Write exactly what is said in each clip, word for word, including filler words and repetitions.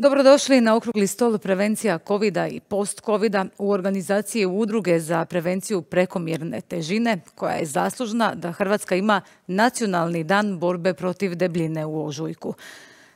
Dobrodošli na okrugli stol prevencija kovida i post-kovida u organizaciji Udruge za prevenciju prekomjerne težine, koja je zaslužna da Hrvatska ima nacionalni dan borbe protiv debljine u ožujku.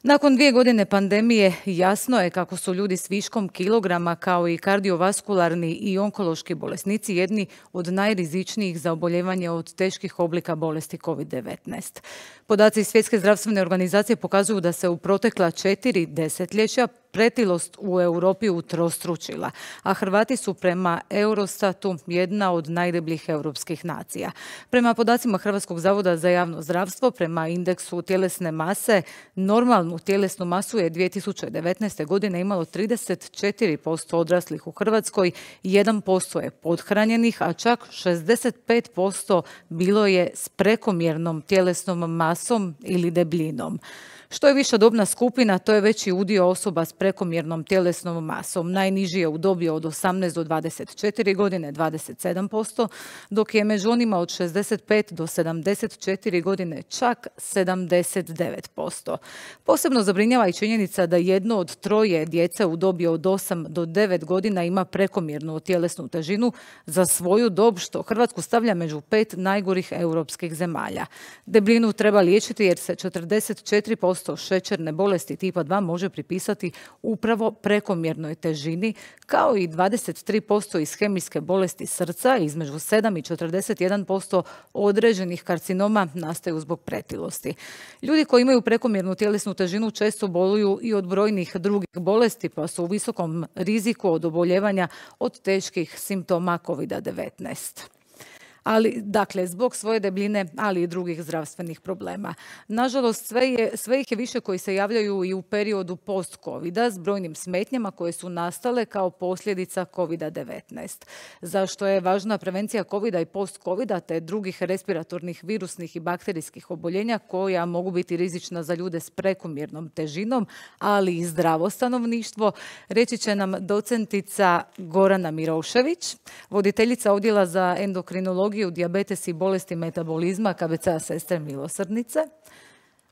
Nakon dvije godine pandemije jasno je kako su ljudi s viškom kilograma kao i kardiovaskularni i onkološki bolesnici jedni od najrizičnijih za oboljevanje od teških oblika bolesti kovid devetnaest. Podaci Svjetske zdravstvene organizacije pokazuju da se u protekla četiri desetljeća pretilost u Europi utrostručila, a Hrvati su prema Eurostatu jedna od najdebljih europskih nacija. Prema podacima Hrvatskog zavoda za javno zdravstvo, prema indeksu tjelesne mase, normalnu tjelesnu masu je dvije tisuće devetnaeste. godine imalo trideset četiri posto odraslih u Hrvatskoj, jedan posto je pothranjenih, a čak šezdeset pet posto bilo je s prekomjernom tjelesnom masom ili debljinom. Što je viša dobna skupina, to je veći udio osoba s prekomjernom tjelesnom masom. Najniži je u dobi od osamnaest do dvadeset četiri godine, dvadeset sedam posto, dok je među onima od šezdeset pet do sedamdeset četiri godine čak sedamdeset devet posto. Posebno zabrinjava i činjenica da jedno od troje djece u dobi od osam do devet godina ima prekomjernu tjelesnu težinu za svoju dob, što Hrvatsku stavlja među pet najgorih europskih zemalja. Debljinu treba liječiti jer se četrdeset četiri posto šećerne bolesti tipa dva može pripisati upravo prekomjernoj težini, kao i dvadeset tri posto ishemijske bolesti srca, između sedam i četrdeset jedan posto određenih karcinoma nastaju zbog pretilosti. Ljudi koji imaju prekomjernu tjelesnu težinu često boluju i od brojnih drugih bolesti, pa su u visokom riziku od oboljevanja od teških simptoma kovid devetnaest. Ali, dakle, zbog svoje debljine, ali i drugih zdravstvenih problema. Nažalost, sve, je, sve ih je više koji se javljaju i u periodu post-kovida s brojnim smetnjama koje su nastale kao posljedica kovid devetnaest. Zašto je važna prevencija kovida i post-kovida te drugih respiratornih virusnih i bakterijskih oboljenja koja mogu biti rizična za ljude s prekomjernom težinom, ali i zdravo stanovništvo, reći će nam docentica Gorana Mirošević, voditeljica odjela za endokrinologiju, dijabetes i bolesti metabolizma K B C-a Sestre milosrdnice,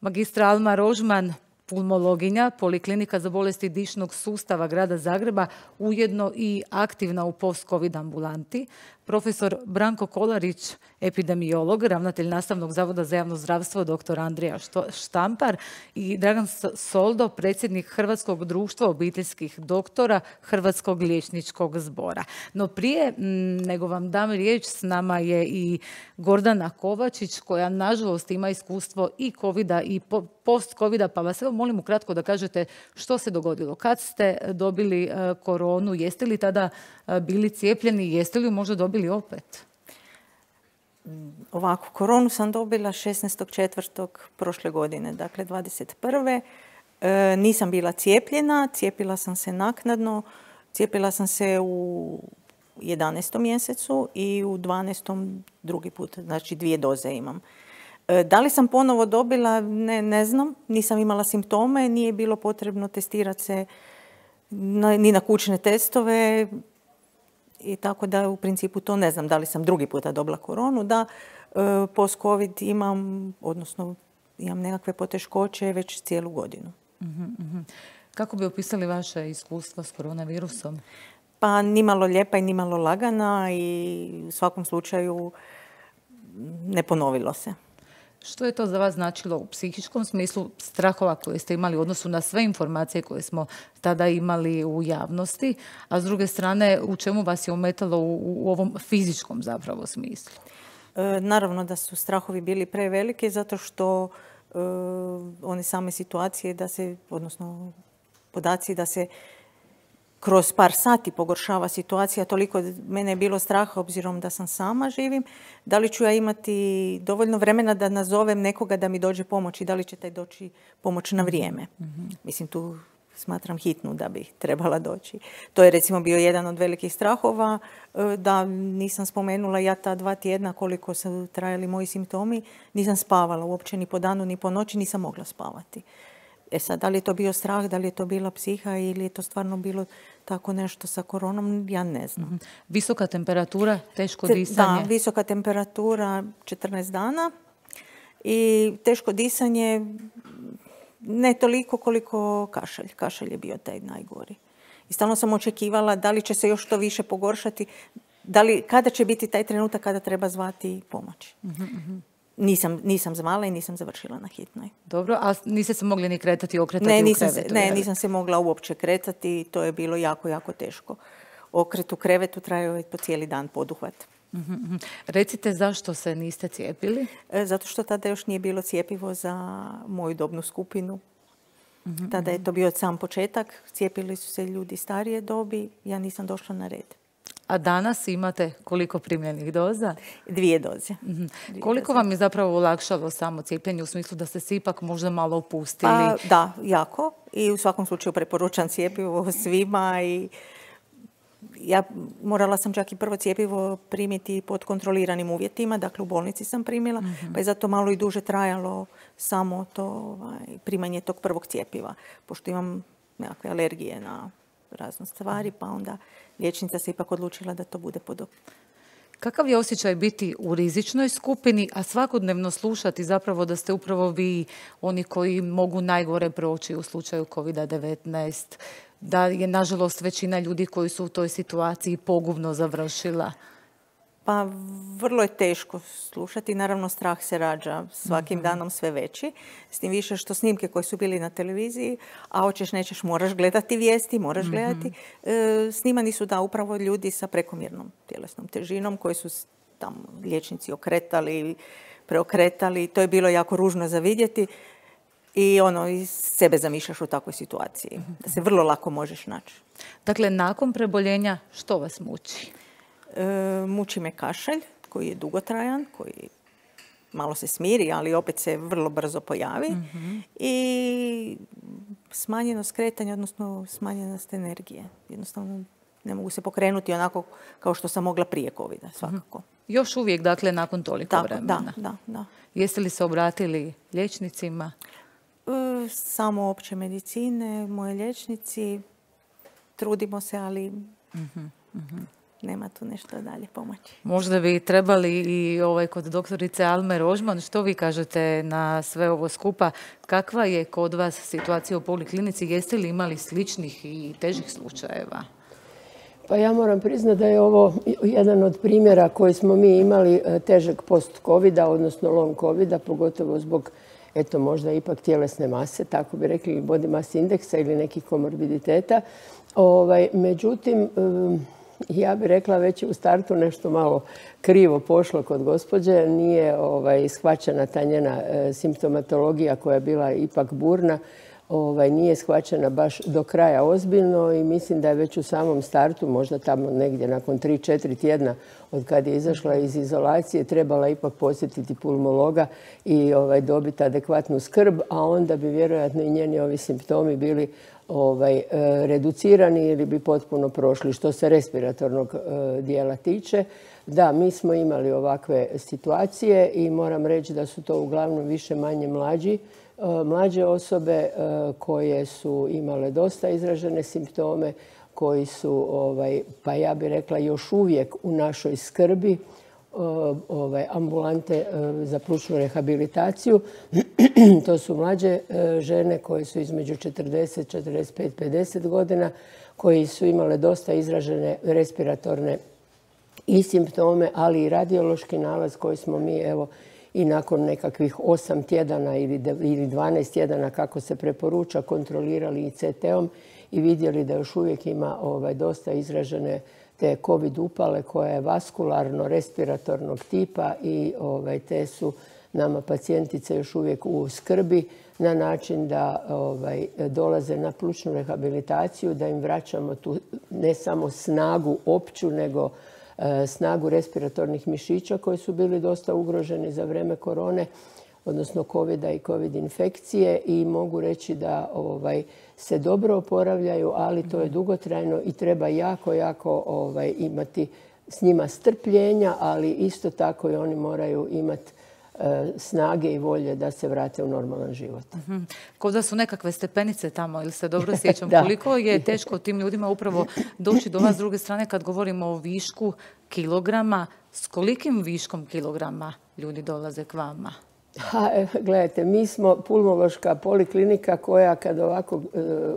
magistra Alma Rožman, pulmologinja, Poliklinika za bolesti dišnog sustava Grada Zagreba, ujedno i aktivna u post-covid ambulanti, profesor Branko Kolarić, epidemiolog, ravnatelj Nastavnog zavoda za javno zdravstvo dr. Andrija Štampar i Dragan Soldo, predsjednik Hrvatskog društva obiteljskih doktora Hrvatskog liječničkog zbora. No prije nego vam dam riječ, s nama je i Gordana Kovačić, koja nažalost ima iskustvo i covida i post-covida, pa vas evo molim ukratko da kažete što se dogodilo. Kad ste dobili koronu, jeste li tada bili cijepljeni, jeste li ju možda dobili opet? Ovako, koronu sam dobila šesnaestog četvrtog prošle godine, dakle dvadeset prve. E, nisam bila cijepljena, cijepila sam se naknadno, cijepila sam se u jedanaestom mjesecu i u dvanaestom drugi put, znači dvije doze imam. E, da li sam ponovo dobila, ne, ne znam, nisam imala simptome, nije bilo potrebno testirati se na, ni na kućne testove, i tako da u principu to ne znam da li sam drugi puta dobila koronu, da e, post-covid imam, odnosno imam nekakve poteškoće već cijelu godinu. Uh-huh. Kako bi opisali vaše iskustva s koronavirusom? Pa nimalo lijepa i nimalo lagana i u svakom slučaju ne ponovilo se. Što je to za vas značilo u psihičkom smislu, strahova koje ste imali u odnosu na sve informacije koje smo tada imali u javnosti, a s druge strane u čemu vas je ometalo u, u ovom fizičkom zapravo smislu? E, naravno da su strahovi bili prevelike zato što e, one same situacije da se, odnosno podaci da se kroz par sati pogoršava situacija, toliko mene je bilo straha obzirom da sam sama živim. Da li ću ja imati dovoljno vremena da nazovem nekoga da mi dođe pomoć i da li će taj doći pomoć na vrijeme? Mm-hmm. Mislim, tu smatram hitnu da bi trebala doći. To je recimo bio jedan od velikih strahova, da nisam spomenula ja ta dva tjedna koliko su trajali moji simptomi, nisam spavala uopće ni po danu ni po noći, nisam mogla spavati. E sad, da li je to bio strah, da li je to bila psiha ili je to stvarno bilo tako nešto sa koronom, ja ne znam. Mm-hmm. Visoka temperatura, teško disanje? Da, visoka temperatura četrnaest dana i teško disanje, ne toliko koliko kašalj. Kašalj je bio taj najgori. I stalno sam očekivala da li će se još to više pogoršati, da li, kada će biti taj trenutak kada treba zvati pomoć. Mm-hmm. Nisam, nisam zvala i nisam završila na hitnoj. Dobro, a niste se mogli ni kretati i okretati ne, u nisam krevetu? Se, ne, nisam se mogla uopće kretati. To je bilo jako, jako teško. Okret u krevetu trajao je po cijeli dan poduhvat. Mm-hmm. Recite zašto se niste cijepili? E, zato što tada još nije bilo cjepivo za moju dobnu skupinu. Mm-hmm. Tada je to bio sam početak. Cijepili su se ljudi starije dobi. Ja nisam došla na red. A danas imate koliko primljenih doza? Dvije doze. Mm-hmm. Dvije koliko doze. vam je zapravo olakšalo samo cijepljenje u smislu da ste se ipak možda malo opustili? Pa, da, jako. I u svakom slučaju preporučam cjepivo svima. I ja morala sam čak i prvo cjepivo primiti pod kontroliranim uvjetima. Dakle, u bolnici sam primila. Mm-hmm. Pa je zato malo i duže trajalo samo to ovaj, primanje tog prvog cjepiva. Pošto imam nekakve alergije na razne stvari, pa onda liječnica se ipak odlučila da to bude pod. Kakav je osjećaj biti u rizičnoj skupini, a svakodnevno slušati zapravo da ste upravo vi oni koji mogu najgore proći u slučaju kovid devetnaest, da je nažalost većina ljudi koji su u toj situaciji pogubno završila? Pa vrlo je teško slušati. Naravno, strah se rađa svakim mm-hmm. danom sve veći. S tim više što snimke koje su bili na televiziji, a hoćeš nećeš moraš gledati vijesti, moraš mm-hmm. gledati. E, snimani su da upravo ljudi sa prekomjernom tjelesnom težinom koji su tamo liječnici okretali, preokretali. To je bilo jako ružno za vidjeti. I ono, i sebe zamišljaš u takvoj situaciji. Mm-hmm. Da se vrlo lako možeš naći. Dakle, nakon preboljenja što vas muči? E, muči me kašalj koji je dugotrajan, koji malo se smiri, ali opet se vrlo brzo pojavi. Mm-hmm. I smanjenost kretanja, odnosno smanjenost energije. Jednostavno ne mogu se pokrenuti onako kao što sam mogla prije covida, svakako. Mm-hmm. Još uvijek, dakle, nakon toliko Tako, vremena? Da, da, da. Jeste li se obratili liječnicima? E, samo opće medicine, moje liječnici. Trudimo se, ali mm-hmm. Mm-hmm. nema tu nešto dalje pomoći. Možda bi trebali i ovaj, kod doktorice Alme Rožman, što vi kažete na sve ovo skupa? Kakva je kod vas situacija u poliklinici? Jeste li imali sličnih i težih slučajeva? Pa ja moram priznati da je ovo jedan od primjera koji smo mi imali težeg post-covida, odnosno long covida, pogotovo zbog eto možda ipak tjelesne mase, tako bi rekli, body mass indeksa ili nekih komorbiditeta. Ovaj, međutim, ja bih rekla već u startu nešto malo krivo pošlo kod gospođe. Nije ovaj, shvaćena ta njena e, simptomatologija koja je bila ipak burna. Ovaj, nije shvaćena baš do kraja ozbiljno i mislim da je već u samom startu, možda tamo negdje nakon tri četiri tjedna od kad je izašla iz izolacije, trebala ipak posjetiti pulmologa i ovaj, dobiti adekvatnu skrb, a onda bi vjerojatno i njeni ovi simptomi bili ovaj, reducirani ili bi potpuno prošli. Što se respiratornog e, dijela tiče, da, mi smo imali ovakve situacije i moram reći da su to uglavnom više manje mlađi mlađe osobe koje su imale dosta izražene simptome, koji su, ovaj, pa ja bih rekla, još uvijek u našoj skrbi, ovaj, ambulante za plućnu rehabilitaciju. To su mlađe žene koje su između četrdeset, četrdeset pet, pedeset godina, koji su imale dosta izražene respiratorne i simptome, ali i radiološki nalaz koji smo mi, evo, i nakon nekakvih osam tjedana ili dvanaest tjedana kako se preporuča kontrolirali i ce te-om i vidjeli da još uvijek ima ovaj, dosta izražene te covid upale koja je vaskularno-respiratornog tipa i ovaj, te su nama pacijentice još uvijek u skrbi na način da ovaj, dolaze na plućnu rehabilitaciju, da im vraćamo tu ne samo snagu opću, nego snagu respiratornih mišića koji su bili dosta ugroženi za vrijeme korone, odnosno covida i covid infekcije i mogu reći da ovaj, se dobro oporavljaju, ali to je dugotrajno i treba jako, jako ovaj, imati s njima strpljenja, ali isto tako i oni moraju imati snage i volje da se vrate u normalan život. Mm-hmm. Kao da su nekakve stepenice tamo, ili se dobro sjećam, koliko je teško tim ljudima upravo doći do vas s druge strane kad govorimo o višku kilograma, s kolikim viškom kilograma ljudi dolaze k vama? Ha, gledajte, mi smo pulmološka poliklinika koja kad ovako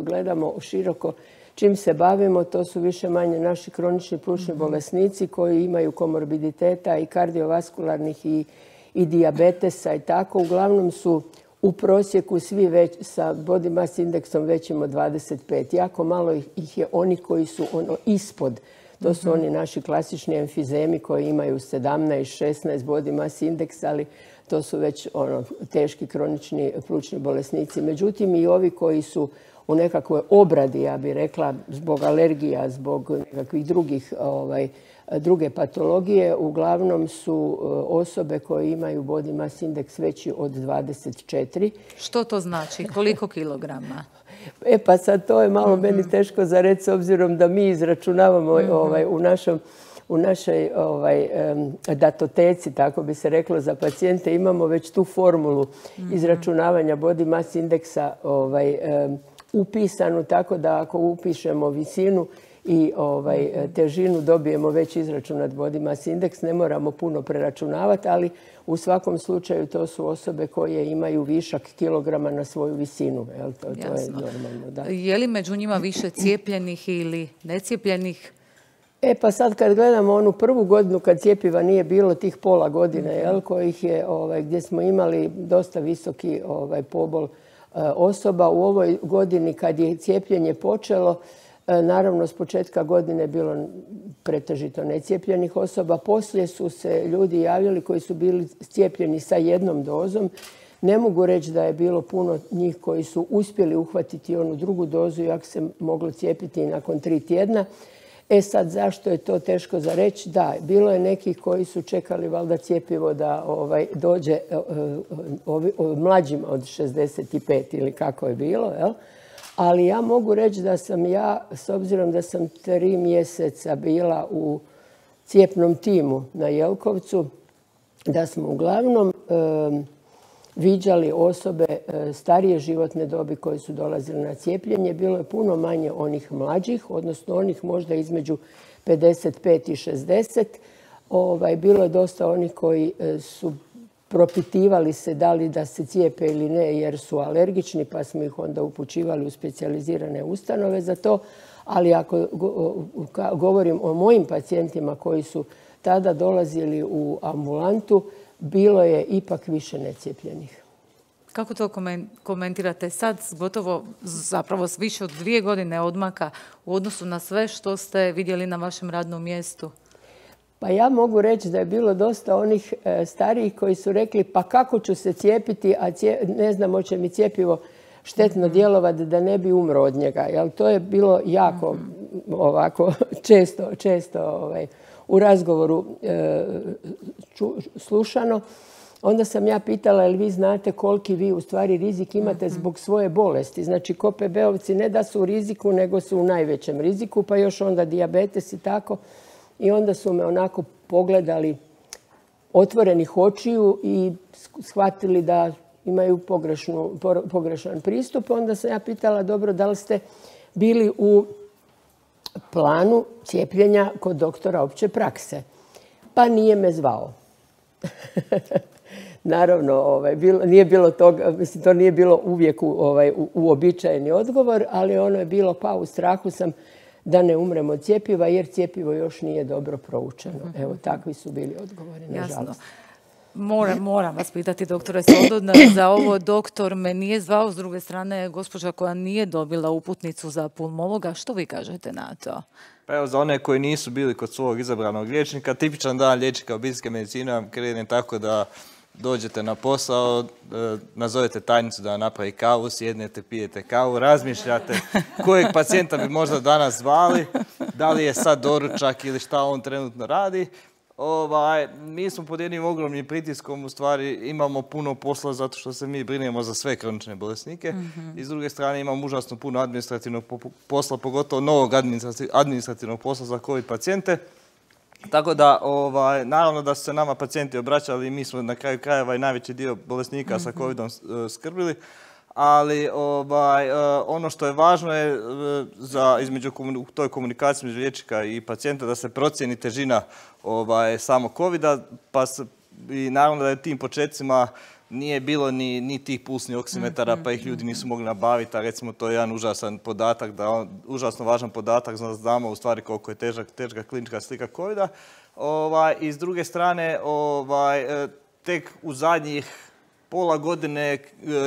gledamo široko čim se bavimo, to su više manje naši kronični plućni bolesnici koji imaju komorbiditeta i kardiovaskularnih i, i dijabetesa i tako. Uglavnom su u prosjeku svi već sa body mass indeksom većim od dvadeset pet. Jako malo ih je oni koji su ono ispod. To su oni naši klasični emfizemi koji imaju sedamnaest šesnaest body mass indeks, ali to su već ono, teški kronični plućni bolesnici. Međutim, i ovi koji su u nekakvoj obradi, ja bih rekla, zbog alergija, zbog nekakvih drugih, ovaj, druge patologije, uglavnom su osobe koje imaju body mass indeks veći od dvadeset četiri. Što to znači? Koliko kilograma? E pa sad to je malo mm-hmm. meni teško za reći s obzirom da mi izračunavamo mm-hmm. ovaj, u našom u našoj ovaj, datoteci, tako bi se reklo, za pacijente imamo već tu formulu mm-hmm. izračunavanja body mass indeksa ovaj, um, upisanu, tako da ako upišemo visinu i ovaj, težinu dobijemo već izračunat body mass indeks. Ne moramo puno preračunavati, ali u svakom slučaju to su osobe koje imaju višak kilograma na svoju visinu. Jel? To, to je normalno. Da. Je li među njima više cijepljenih ili necijepljenih? E pa sad kad gledamo onu prvu godinu kad cjepiva nije bilo, tih pola godine, jel, kojih je, ovaj, gdje smo imali dosta visoki ovaj, pobol osoba. U ovoj godini kad je cijepljenje počelo, naravno s početka godine je bilo pretežito necijepljenih osoba. Poslije su se ljudi javljali koji su bili cijepljeni sa jednom dozom. Ne mogu reći da je bilo puno njih koji su uspjeli uhvatiti onu drugu dozu, iako se moglo cijepiti i nakon tri tjedna. E sad, zašto je to teško za reći? Da, bilo je nekih koji su čekali valjda cjepivo da ovaj, dođe ovi, ovi, mlađima od šezdeset pet ili kako je bilo, jel? Ali ja mogu reći da sam ja, s obzirom da sam tri mjeseca bila u cijepnom timu na Jelkovcu, da smo uglavnom um, viđali osobe starije životne dobi koji su dolazili na cijepljenje. Bilo je puno manje onih mlađih, odnosno onih možda između pedeset pet i šezdeset. Ovaj, bilo je dosta onih koji su propitivali se da li da se cijepe ili ne jer su alergični, pa smo ih onda upućivali u specijalizirane ustanove za to. Ali ako govorim o mojim pacijentima koji su tada dolazili u ambulantu, bilo je ipak više necijepljenih. Kako to komentirate sad, gotovo zapravo s više od dvije godine odmaka u odnosu na sve što ste vidjeli na vašem radnom mjestu? Pa ja mogu reći da je bilo dosta onih starijih koji su rekli pa kako ću se cijepiti, a cije, ne znam hoće mi cjepivo štetno djelovati da ne bi umro od njega. Jel, to je bilo jako mm-hmm. ovako često, često ovaj, u razgovoru e, ču, slušano. Onda sam ja pitala, jel vi znate koliki vi u stvari rizik imate zbog svoje bolesti? Znači, ko pe be ovci ne da su u riziku, nego su u najvećem riziku, pa još onda dijabetes i tako. I onda su me onako pogledali otvorenih očiju i shvatili da imaju pogrešnu, pogrešan pristup. Onda sam ja pitala, dobro, da li ste bili u planu cijepljenja kod doktora opće prakse? Pa nije me zvao. Naravno, ovaj, bilo, nije bilo toga, mislim, to nije bilo uvijek u, ovaj, u, uobičajeni odgovor, ali ono je bilo pa u strahu sam da ne umremo od cjepiva jer cjepivo još nije dobro proučeno. Evo, takvi su bili odgovori, nažalost. Jasno. Moram, moram vas pitati, doktore Soldona, za ovo doktor me nije zvao, s druge strane gospođa koja nije dobila uputnicu za pulmologa. Što vi kažete na to? Pa evo, za one koji nisu bili kod svog izabranog liječnika, tipičan dan liječnika obiteljske medicine vam krene tako da dođete na posao, nazovete tajnicu da napravi kavu, sjednete, pijete kavu, razmišljate kojeg pacijenta bi možda danas zvali, da li je sad doručak ili šta on trenutno radi. Ovaj, mi smo pod jednim ogromnim pritiskom, u stvari imamo puno posla zato što se mi brinemo za sve kronične bolesnike. Mm-hmm. I s druge strane imamo užasno puno administrativnog posla, pogotovo novog administrativnog posla za COVID pacijente. Tako da, ovaj, naravno da su se nama pacijenti obraćali i mi smo na kraju krajeva i najveći dio bolesnika mm-hmm. sa covidom skrbili. Ali ovaj, ono što je važno je za, između u toj komunikaciji između liječnika i pacijenta da se procijeni težina ovaj, samog covida, pa se, i naravno da je tim početcima nije bilo ni, ni tih pulsnih oksimetara, pa ih ljudi nisu mogli nabaviti, a recimo to je jedan užasan podatak, da on, užasno važan podatak, znamo u stvari koliko je težak, teška klinička slika covida. Ovaj, I s druge strane, ovaj, tek u zadnjih pola godine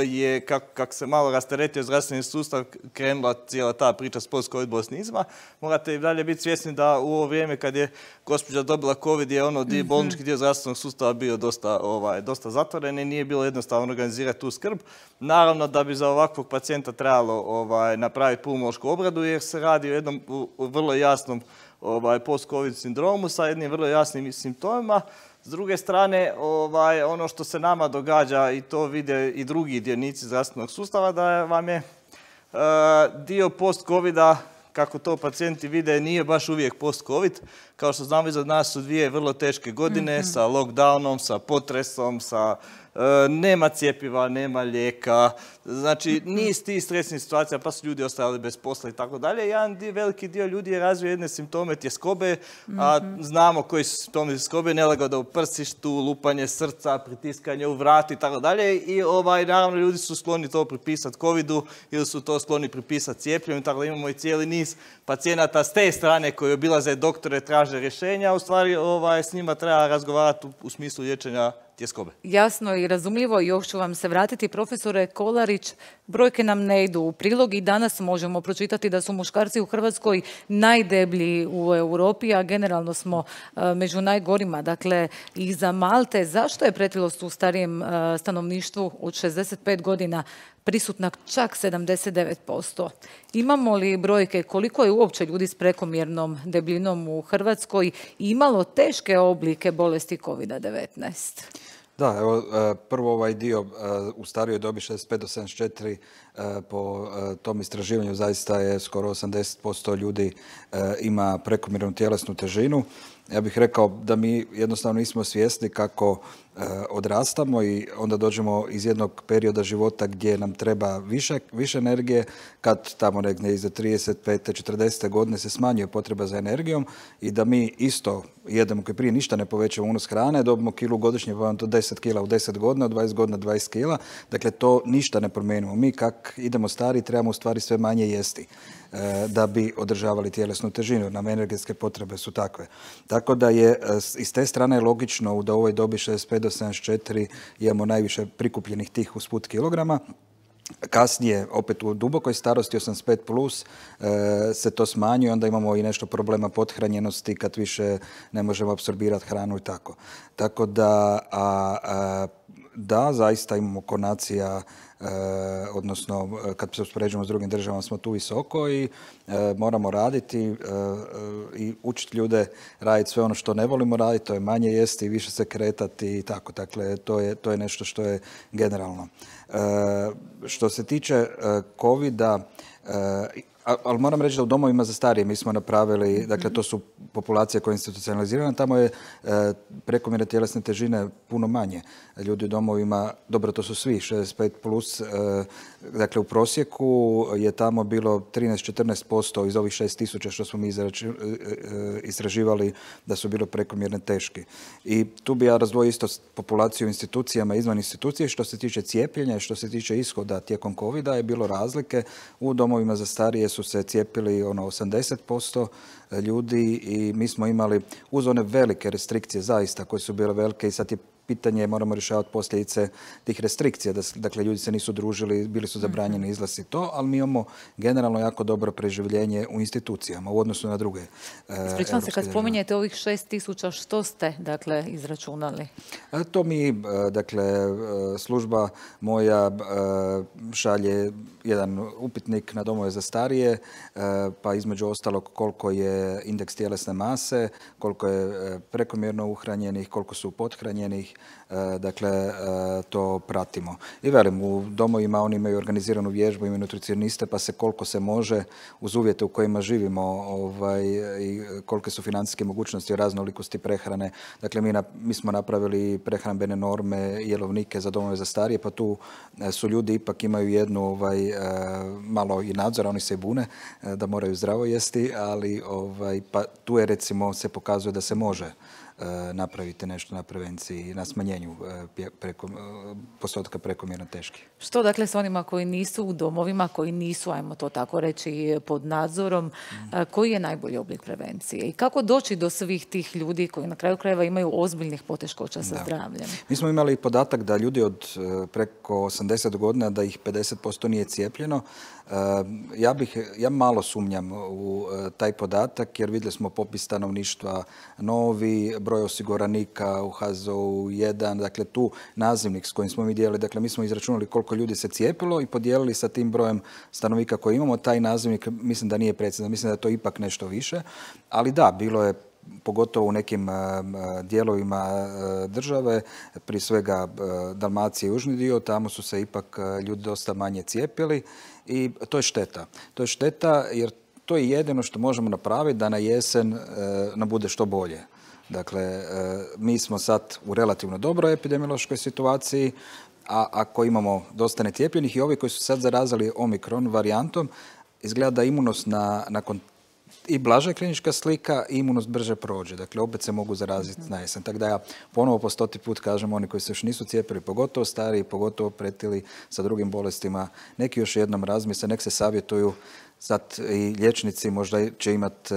je, kako kak se malo rasteretio zdravstveni sustav, krenula cijela ta priča s post-covid bolesnicima. Morate i dalje biti svjesni da u ovo vrijeme kad je gospođa dobila covid je ono mm-hmm. bolnički dio zdravstvenog sustava bio dosta, ovaj, dosta zatvoren i nije bilo jednostavno organizirati tu skrb. Naravno da bi za ovakvog pacijenta trebalo ovaj, napraviti pulmološku obradu jer se radi o jednom u, u vrlo jasnom ovaj, post-covid sindromu sa jednim vrlo jasnim simptomima. S druge strane, ovaj, ono što se nama događa i to vide i drugi dionici zdravstvenog sustava, da vam je uh, dio post-covida, kako to pacijenti vide, nije baš uvijek post-covid. Kao što znamo, iza nas su dvije vrlo teške godine mm-hmm. sa lockdownom, sa potresom, sa uh, nema cjepiva, nema lijeka. Znači, niz tih stresnih situacija, pa su ljudi ostali bez posla i tako dalje. Jedan dio, veliki dio ljudi je razvio jedne simptome tjeskobe, a znamo koji su simptomi tjeskobe, nelagoda u prsištu, lupanje srca, pritiskanje u vrat i tako dalje. I ovaj, naravno, ljudi su skloni to pripisati covidu ili su to skloni pripisati cijepljenju. Tako da imamo i cijeli niz pacijenata s te strane koji obilaze doktore, traže rješenja. U stvari, ovaj, s njima treba razgovarati u, u smislu liječenja tjeskobe. Jasno i razumljivo, još ću vam se vratiti. Profesore Kolarić, brojke nam ne idu u prilog i danas možemo pročitati da su muškarci u Hrvatskoj najdeblji u Europi, a generalno smo uh, među najgorima, dakle iza Malte. Zašto je pretilost u starijem uh, stanovništvu od šezdeset pet godina prisutna čak sedamdeset devet posto? Imamo li brojke koliko je uopće ljudi s prekomjernom debljinom u Hrvatskoj i imalo teške oblike bolesti kovid devetnaest? Da, evo, prvo ovaj dio u starijoj dobi šezdeset pet do sedamdeset četiri po tom istraživanju zaista je skoro osamdeset posto ljudi ima prekomjernu tjelesnu težinu. Ja bih rekao da mi jednostavno nismo svjesni kako odrastamo i onda dođemo iz jednog perioda života gdje nam treba više, više energije, kad tamo negdje iza trideset pet četrdeset godine se smanjuje potreba za energijom i da mi isto jedemo koji prije ništa ne povećamo unos hrane, dobimo kilu godišnje, pa vam to deset kila u deset godina, u dvadeset godina dvadeset kila, dakle to ništa ne promijenimo. Mi kak idemo stari trebamo u stvari sve manje jesti da bi održavali tjelesnu težinu. Nam energetske potrebe su takve. Tako da je iz te strane logično da u ovoj dobi šezdeset pet do sedamdeset četiri imamo najviše prikupljenih tih usput kilograma. Kasnije, opet u dubokoj starosti, osamdeset pet plus, se to smanjuje, onda imamo i nešto problema pothranjenosti kad više ne možemo apsorbirati hranu i tako. Tako da, a, a, da, zaista imamo konacija, e, odnosno kad se uspoređujemo s drugim državama smo tu visoko i e, moramo raditi e, i učiti ljude raditi sve ono što ne volimo raditi, to je manje jesti, više se kretati i tako. Dakle, to je, to je nešto što je generalno. E, što se tiče e, covida, e, ali moram reći da u domovima za starije mi smo napravili, dakle to su populacije koje je institucionalizirana, tamo je e, prekomjerne tjelesne težine puno manje. Ljudi u domovima, dobro to su svi, šezdeset pet plus, e, dakle u prosjeku je tamo bilo trinaest do četrnaest posto iz ovih šest tisuća što smo mi izrači, e, e, istraživali da su bilo prekomjerne teški. I tu bi ja razdvojio isto populaciju u institucijama i izvan institucije. Što se tiče cijepljenja i što se tiče ishoda tijekom covida je bilo razlike. U domovima za starije su se cijepili ono osamdeset posto ljudi i mi smo imali uz one velike restrikcije zaista koje su bile velike i sad je pitanje, moramo rješavati posljedice tih restrikcija. Dakle, ljudi se nisu družili, bili su zabranjeni izlaz i to, ali mi imamo generalno jako dobro preživljenje u institucijama u odnosu na druge. Ispričavam se, kad spominjete ovih šest tisuća, što ste, dakle, izračunali? To mi, dakle, služba moja šalje jedan upitnik na domove za starije, pa između ostalog koliko je indeks tjelesne mase, koliko je prekomjerno uhranjenih, koliko su pothranjenih, dakle, to pratimo. I velim, u domovima oni imaju organiziranu vježbu, imaju nutricioniste, pa se koliko se može uz uvjete u kojima živimo ovaj, i kolike su financijske mogućnosti o raznolikosti prehrane. Dakle, mi, na, mi smo napravili prehrambene norme, jelovnike za domove za starije, pa tu su ljudi ipak imaju jednu ovaj, malo i nadzor, oni se i bune da moraju zdravo jesti, ali ovaj, pa tu je recimo se pokazuje da se može napravite nešto na prevenciji i na smanjenju preko, postotka prekomjerno teških. Što dakle s onima koji nisu u domovima, koji nisu, ajmo to tako reći, pod nadzorom, mm. koji je najbolji oblik prevencije i kako doći do svih tih ljudi koji na kraju krajeva imaju ozbiljnih poteškoća sa da. zdravljem? Mi smo imali podatak da ljudi od preko osamdeset godina da ih pedeset posto nije cijepljeno. Ja bih, ja malo sumnjam u taj podatak jer vidjeli smo popis stanovništva novi, broj osiguranika u H Z O U jedan, dakle tu nazivnik s kojim smo mi dijelili, dakle mi smo izračunali koliko ljudi se cijepilo i podijelili sa tim brojem stanovnika koji imamo. Taj nazivnik mislim da nije precizan, mislim da je to ipak nešto više, ali da, bilo je pogotovo u nekim dijelovima države, prije svega Dalmacije i južni dio, tamo su se ipak ljudi dosta manje cijepili i to je šteta. To je šteta jer to je jedino što možemo napraviti da na jesen nam bude što bolje. Dakle, mi smo sad u relativno dobroj epidemiološkoj situaciji, a ako imamo dosta necijepljenih i ovi koji su sad zarazili omikron varijantom, izgleda da imunost na, nakon i blaža klinička slika i imunost brže prođe. Dakle, opet se mogu zaraziti na jesen. Tako da ja ponovo po stoti put kažem, oni koji se još nisu cijepili, pogotovo stariji, pogotovo pretili sa drugim bolestima, neki još jednom razmisle, nek se savjetuju. Sad i liječnici možda će imati,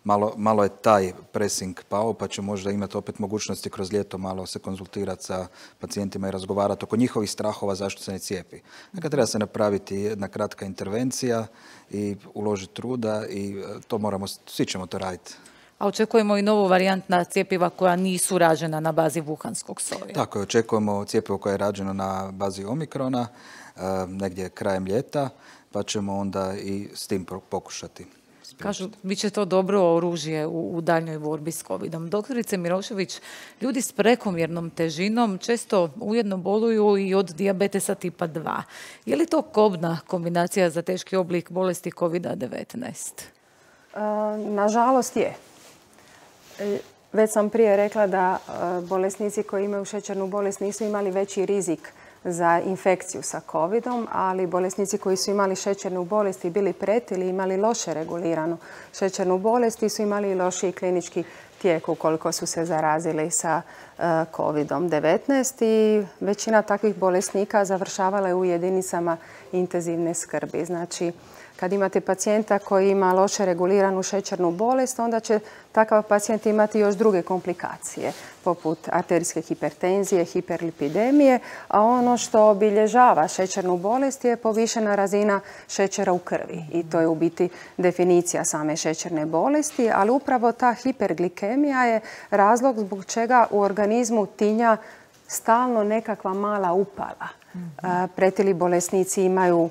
malo, malo je taj pressing pao, pa će možda imati opet mogućnosti kroz ljeto malo se konzultirati sa pacijentima i razgovarati oko njihovih strahova zašto se ne cijepi. Dakle, treba se napraviti jedna kratka intervencija i uložiti truda i to moramo, svi ćemo to raditi. A očekujemo i novu varijantna cjepiva koja nisu rađena na bazi wuhanskog soja. Tako je, očekujemo cjepivo koje je rađeno na bazi omikrona, negdje krajem ljeta, pa ćemo onda i s tim pokušati. Kažu, bit će to dobro oružje u, u daljnjoj borbi s covidom. Doktorice Milošević, ljudi s prekomjernom težinom često ujedno boluju i od dijabetesa tipa dva. Je li to kobna kombinacija za teški oblik bolesti kovida devetnaest? E, nažalost je. Već sam prije rekla da bolesnici koji imaju šećernu bolest nisu imali veći rizik za infekciju sa covidom, ali bolesnici koji su imali šećernu bolest i bili pretili, imali loše reguliranu šećernu bolest i su imali lošiji klinički tijek ukoliko su se zarazili sa covidom devetnaest i većina takvih bolesnika završavala je u jedinicama intenzivne skrbi. Znači, kad imate pacijenta koji ima loše reguliranu šećernu bolest, onda će takav pacijent imati još druge komplikacije, poput arterijske hipertenzije, hiperlipidemije, a ono što obilježava šećernu bolest je povišena razina šećera u krvi. I to je u biti definicija same šećerne bolesti, ali upravo ta hiperglikemija je razlog zbog čega u organizmu tinja stalno nekakva mala upala. Pretili bolesnici imaju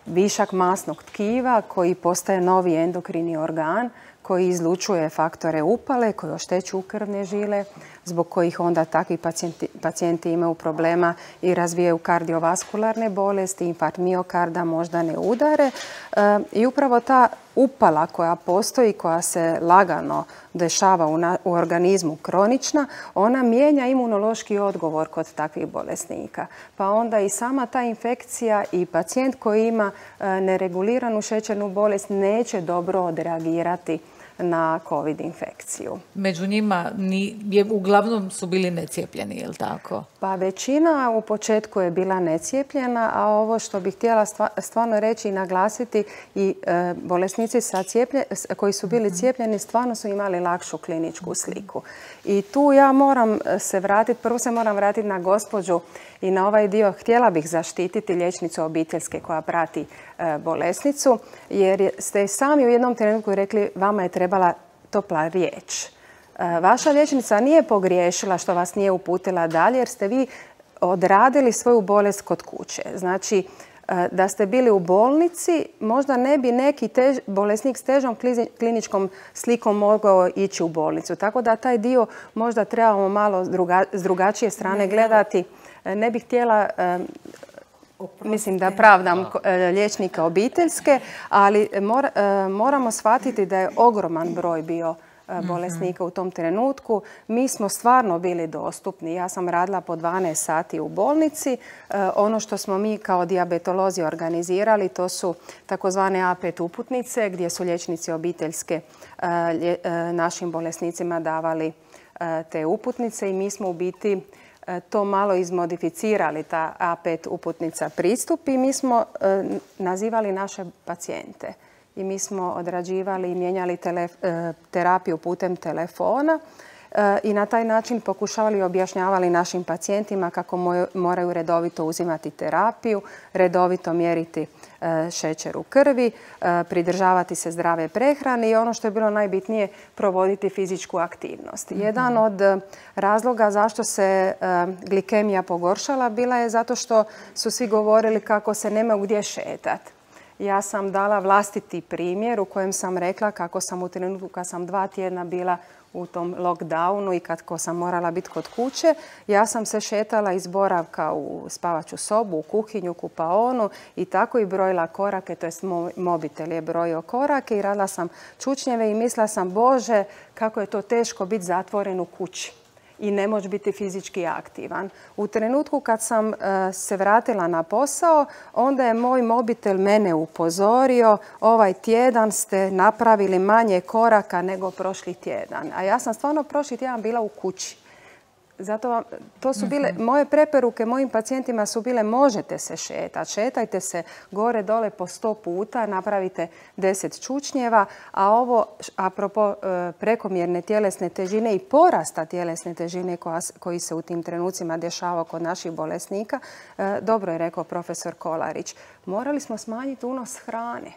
višak masnog tkiva koji postaje novi endokrini organ koji izlučuje faktore upale, koji oštećuju krvne žile, zbog kojih onda takvi pacijenti, pacijenti imaju problema i razvijaju kardiovaskularne bolesti, infarkt miokarda, moždane udare. E, I upravo ta upala koja postoji, koja se lagano dešava u, na, u organizmu kronična, ona mijenja imunološki odgovor kod takvih bolesnika. Pa onda i sama ta infekcija i pacijent koji ima e, nereguliranu šećernu bolest neće dobro odreagirati na COVID infekciju. Među njima ni, je, uglavnom su bili necijepljeni, je li tako? Pa većina u početku je bila necijepljena, a ovo što bih htjela stvarno reći i naglasiti i e, bolesnici sa cijeplje, koji su bili cijepljeni stvarno su imali lakšu kliničku sliku. I tu ja moram se vratiti, prvo se moram vratiti na gospođu i na ovaj dio. Htjela bih zaštititi liječnicu obiteljske koja prati e, bolesnicu, jer ste sami u jednom trenutku rekli vama je trebala topla riječ. Vaša liječnica nije pogriješila što vas nije uputila dalje jer ste vi odradili svoju bolest kod kuće. Znači, da ste bili u bolnici, možda ne bi neki tež, bolesnik s težom kliničkom slikom mogao ići u bolnicu. Tako da taj dio možda trebamo malo druga, s drugačije strane gledati. Ne bih htjela... Mislim da pravdam liječnika obiteljske, ali mora, moramo shvatiti da je ogroman broj bio bolesnika u tom trenutku. Mi smo stvarno bili dostupni. Ja sam radila po dvanaest sati u bolnici. Ono što smo mi kao dijabetolozi organizirali, to su takozvane A pet uputnice gdje su liječnici obiteljske našim bolesnicima davali te uputnice i mi smo u biti to malo izmodificirali, ta A pet uputnica pristup i mi smo nazivali naše pacijente. I mi smo odrađivali i mijenjali terapiju putem telefona i na taj način pokušavali i objašnjavali našim pacijentima kako moraju redovito uzimati terapiju, redovito mjeriti šećer u krvi, pridržavati se zdrave prehrane i ono što je bilo najbitnije, provoditi fizičku aktivnost. Jedan od razloga zašto se glikemija pogoršala bila je zato što su svi govorili kako se nema gdje šetati. Ja sam dala vlastiti primjer u kojem sam rekla kako sam u trenutku kad sam dva tjedna bila u tom lockdownu i kako sam morala biti kod kuće, ja sam se šetala iz boravka u spavaću sobu, u kuhinju, kupaonu i tako i brojila korake, to jest moj mobitel je brojio korake i radila sam čučnjeve i mislila sam, Bože, kako je to teško biti zatvoren u kući i ne moći biti fizički aktivan. U trenutku kad sam uh, se vratila na posao, onda je moj mobitel mene upozorio, ovaj tjedan ste napravili manje koraka nego prošli tjedan. A ja sam stvarno prošli tjedan bila u kući. Zato vam, to su bile, moje preporuke mojim pacijentima su bile možete se šetati, šetajte se gore dole po sto puta, napravite deset čučnjeva, a ovo apropo prekomjerne tjelesne težine i porasta tjelesne težine koja, koji se u tim trenucima dešava kod naših bolesnika, dobro je rekao profesor Kolarić, morali smo smanjiti unos hrane.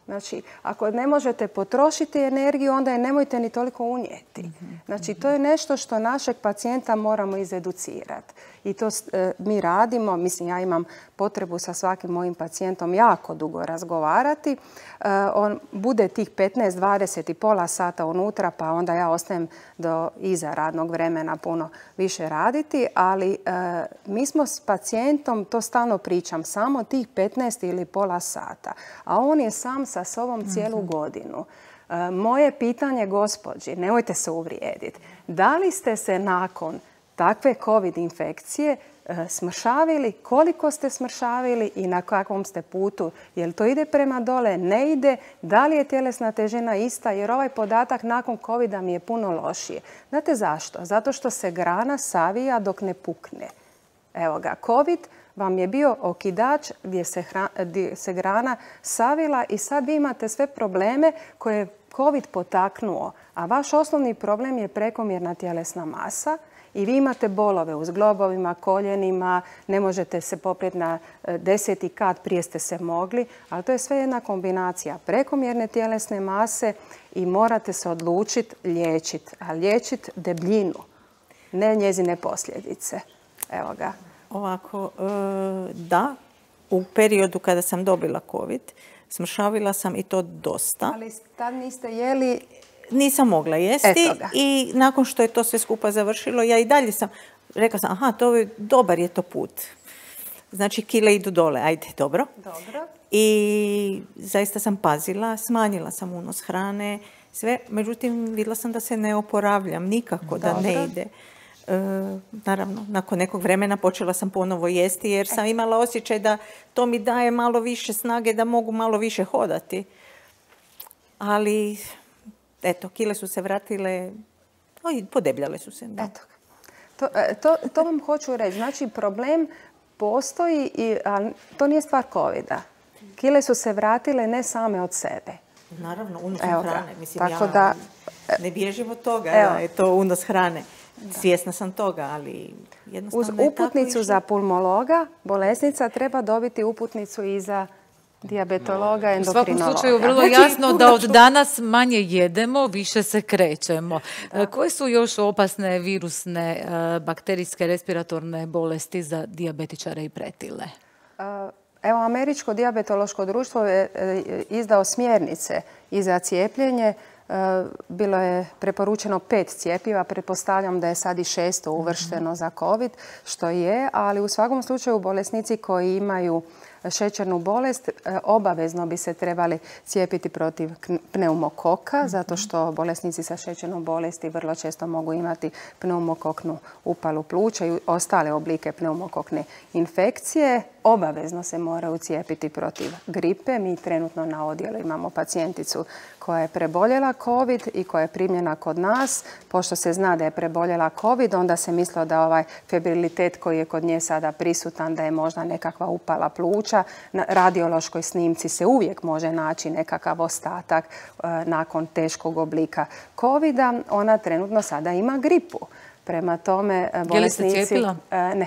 Znači, ako ne možete potrošiti energiju, onda je nemojte ni toliko unijeti. Znači, to je nešto što našeg pacijenta moramo izeducirati. I to e, mi radimo. Mislim, ja imam potrebu sa svakim mojim pacijentom jako dugo razgovarati. E, on bude tih petnaest dvadeset i pola sata unutra, pa onda ja ostajem do iza radnog vremena puno više raditi. Ali e, mi smo s pacijentom, to stalno pričam, samo tih petnaest ili pola sata. A on je sam sa sobom cijelu godinu. E, moje pitanje, gospođi, nemojte se uvrijediti, da li ste se nakon takve COVID infekcije e, smršavili, koliko ste smršavili i na kakvom ste putu? Jel to ide prema dole, ne ide? Da li je tjelesna težina ista? Jer ovaj podatak nakon covida mi je puno lošije. Znate zašto? Zato što se grana savija dok ne pukne. Evo ga, COVID vam je bio okidač gdje se, hra, gdje se grana savila i sad vi imate sve probleme koje je COVID potaknuo. A vaš osnovni problem je prekomjerna tjelesna masa i vi imate bolove u zglobovima, koljenima, ne možete se poprijeti na deseti kat, prije ste se mogli, ali to je sve jedna kombinacija prekomjerne tjelesne mase i morate se odlučiti liječiti, a liječiti debljinu, ne njezine posljedice. Evo ga. Ovako, da, u periodu kada sam dobila COVID, smršavila sam i to dosta. Ali tad niste jeli? Nisam mogla jesti i nakon što je to sve skupa završilo, ja i dalje sam, rekla sam, aha, to je, dobar je to put. Znači, kile idu dole, ajde, dobro. Dobro. I zaista sam pazila, smanjila sam unos hrane, sve. Međutim, vidjela sam da se ne oporavljam nikako, da ne ide. E, naravno, nakon nekog vremena počela sam ponovo jesti jer sam imala osjećaj da to mi daje malo više snage, da mogu malo više hodati. Ali, eto, kile su se vratile, oj, podebljale su se. Da. Eto, to, to, to vam hoću reći. Znači, problem postoji, i, ali to nije stvar covida. Kile su se vratile ne same od sebe. Naravno, unos hrane. Mislim, tako ja da, ne bježim od toga da je to unos hrane. Da. Svjesna sam toga, ali jednostavno uz uputnicu za pulmologa bolesnica treba dobiti uputnicu i za dijabetologa, endokrinologa. U svakom slučaju vrlo jasno da od danas manje jedemo, više se krećemo. Da. Koje su još opasne virusne, bakterijske, respiratorne bolesti za dijabetičare i pretile? Evo, Američko dijabetološko društvo je izdao smjernice i za cijepljenje. Bilo je preporučeno pet cjepiva, pretpostavljam da je sad i šesto uvršteno za COVID, što je, ali u svakom slučaju bolesnici koji imaju šećernu bolest, obavezno bi se trebali cijepiti protiv pneumokoka, zato što bolesnici sa šećernom bolesti vrlo često mogu imati pneumokoknu upalu pluća i ostale oblike pneumokokne infekcije. Obavezno se moraju cijepiti protiv gripe. Mi trenutno na odjelu imamo pacijenticu koja je preboljela COVID i koja je primljena kod nas. Pošto se zna da je preboljela COVID, onda se mislilo da ovaj febrilitet koji je kod nje sada prisutan, da je možda nekakva upala pluća. Na radiološkoj snimci se uvijek može naći nekakav ostatak e, nakon teškog oblika COVID-a. Ona trenutno sada ima gripu. Prema tome, bolesnici... Je li se cijepila? E, ne.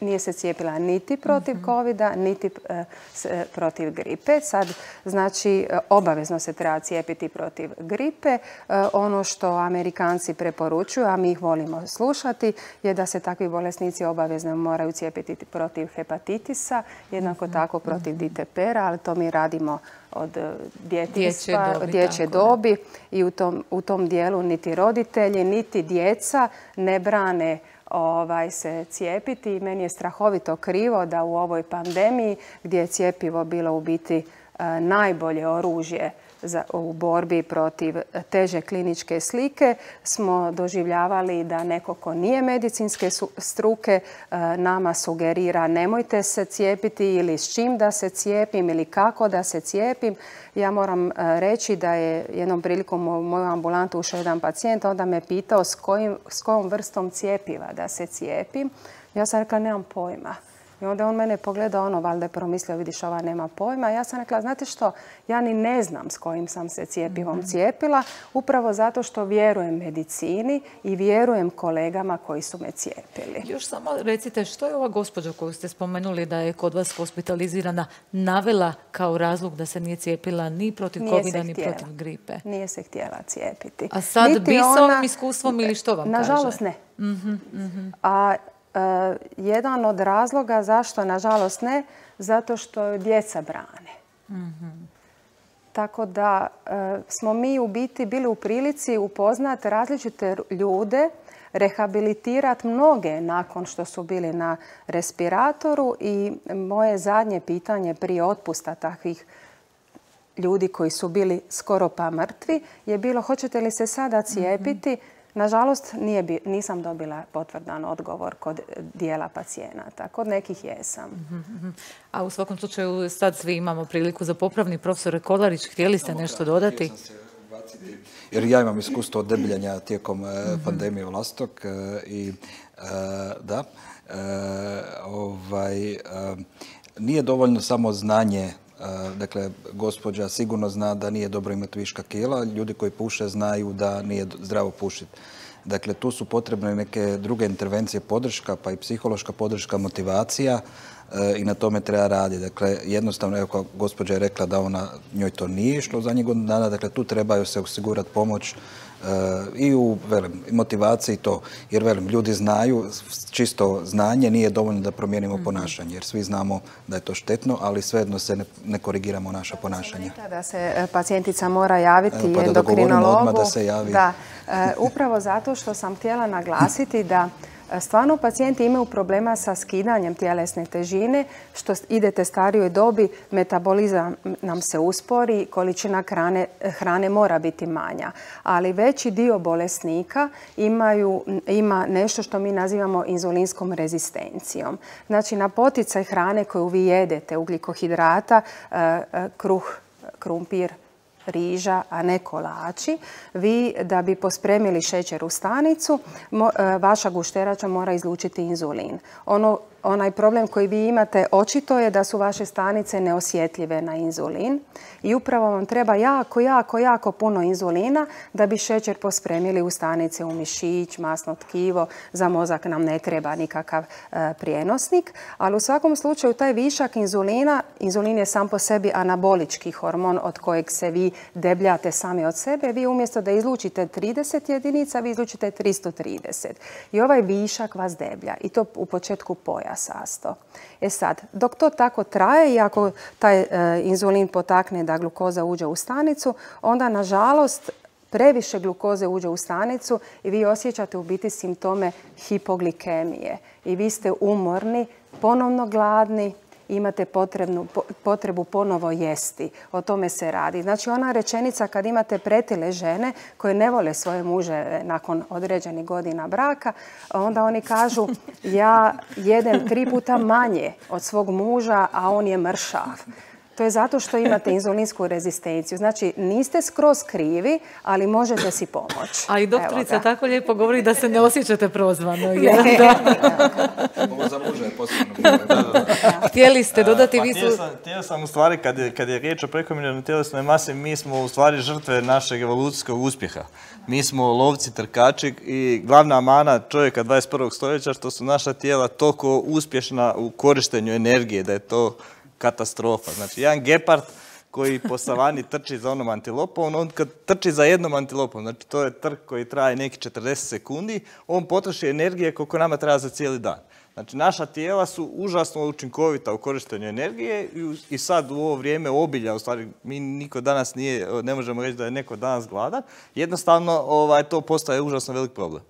Nije se cijepila niti protiv COVID-a, niti e, s, e, protiv gripe. Sad, znači, obavezno se treba cijepiti protiv gripe. E, ono što Amerikanci preporučuju, a mi ih volimo slušati, je da se takvi bolesnici obavezno moraju cijepiti protiv hepatitisa, jednako mm-hmm. tako protiv ditepera, ali to mi radimo od djetinjstva, dječje dobi, dječje dobi i u tom, u tom dijelu niti roditelji, niti djeca ne brane Ovaj, se cijepiti. I meni je strahovito krivo da u ovoj pandemiji, gdje je cjepivo bilo u biti e, najbolje oružje za, u borbi protiv teže kliničke slike, smo doživljavali da neko ko nije medicinske struke e, nama sugerira nemojte se cijepiti ili s čim da se cijepim ili kako da se cijepim. Ja moram reći da je jednom prilikom u moju ambulantu ušao jedan pacijent, onda me pitao s, kojim, s kojom vrstom cijepiva da se cijepim. Ja sam rekla nemam pojma. I onda on mene pogledao, ono, valjda je promislio, vidiš, ova nema pojma. Ja sam rekla, znate što, ja ni ne znam s kojim sam se cijepivom cijepila, upravo zato što vjerujem medicini i vjerujem kolegama koji su me cijepili. Još samo recite, što je ova gospođa koju ste spomenuli da je kod vas hospitalizirana navela kao razlog da se nije cijepila ni protiv COVID-a, ni protiv gripe? Nije se htjela cijepiti. A sad niti bi sa ovim iskustvom ili što vam nažalost, kaže? Nažalost ne. Mm-hmm, mm-hmm. A Uh, jedan od razloga zašto, nažalost, ne, zato što djeca brane. Mm-hmm. Tako da uh, smo mi u biti bili u prilici upoznati različite ljude, rehabilitirati mnoge nakon što su bili na respiratoru i moje zadnje pitanje prije otpusta takvih ljudi koji su bili skoro pa mrtvi je bilo hoćete li se sada cijepiti? Mm-hmm. Nažalost, nije bi, nisam dobila potvrdan odgovor kod dijela pacijenata. Kod nekih jesam. Mm-hmm. A u svakom slučaju sad svi imamo priliku za popravni. Profesore Kolarić, htjeli ste nešto dodati? Jer ja imam iskustvo od debljenja tijekom mm-hmm. pandemije vlastog i da, ovaj, nije dovoljno samo znanje. Dakle, gospođa sigurno zna da nije dobro imati viška kila. Ljudi koji puše znaju da nije zdravo pušiti. Dakle, tu su potrebne neke druge intervencije, podrška, pa i psihološka podrška, motivacija i na tome treba raditi. Dakle, jednostavno, evo kao gospođa je rekla da ona njoj to nije išlo za godinu dana, dakle, tu trebaju se osigurati pomoć i u velim, motivaciji to. Jer velim, ljudi znaju, čisto znanje nije dovoljno da promijenimo mm-hmm. ponašanje. Jer svi znamo da je to štetno, ali svejedno se ne, ne korigiramo naša ponašanja. Da se pacijentica mora javiti Evo, pa da endokrinologu. Odmah da se javi. Da, upravo zato što sam htjela naglasiti da stvarno pacijenti imaju problema sa skidanjem tjelesne težine, što idete starijoj dobi, metabolizam nam se uspori, količina hrane, hrane mora biti manja. Ali veći dio bolesnika imaju, ima nešto što mi nazivamo inzulinskom rezistencijom. Znači na poticaj hrane koju vi jedete, ugljikohidrata, kruh, krumpir, riža, a ne kolači, vi da bi pospremili šećer u stanicu, mo, vaša gušterača mora izlučiti inzulin. Ono, onaj problem koji vi imate očito je da su vaše stanice neosjetljive na inzulin i upravo vam treba jako, jako, jako puno inzulina da bi šećer pospremili u stanice, u mišić, masno tkivo. Za mozak nam ne treba nikakav e, prijenosnik, ali u svakom slučaju taj višak inzulina, inzulin je sam po sebi anabolički hormon od kojeg se vi debljate sami od sebe. Vi umjesto da izlučite trideset jedinica, vi izlučite tristo trideset. I ovaj višak vas deblja i to u početku pojasasto. E sad, dok to tako traje i ako taj e, inzulin potakne da glukoza uđe u stanicu, onda nažalost previše glukoze uđe u stanicu i vi osjećate u biti simptome hipoglikemije. I vi ste umorni, ponovno gladni i imate potrebnu, potrebu ponovo jesti. O tome se radi. Znači ona rečenica kad imate pretile žene koje ne vole svoje muže nakon određenih godina braka, onda oni kažu ja jedem tri puta manje od svog muža, a on je mršav. To je zato što imate inzulinsku rezistenciju. Znači, niste skroz krivi, ali možete si pomoći. A i doktorica tako lijepo govori da se ne osjećate prozvano. Ovo za muža je posebno. Htjeli ste dodati, vi su... Htio sam u stvari, kad je, kad je riječ o prekomjernoj tjelesnoj masi, mi smo u stvari žrtve našeg evolucijskog uspjeha. Mi smo lovci, trkači i glavna mana čovjeka dvadeset prvog stoljeća što su naša tijela toliko uspješna u korištenju energije, da je to katastrofa. Znači, jedan gepard koji po savani trči za onom antilopom, on kad trči za jednom antilopom, znači to je trk koji traje neki četrdeset sekundi, on potroši energije koliko nama treba za cijeli dan. Znači, naša tijela su užasno učinkovita u korištenju energije i sad u ovo vrijeme obilja, u stvari mi niko danas nije, ne možemo reći da je neko danas gladan, jednostavno ovaj, to postaje užasno velik problem.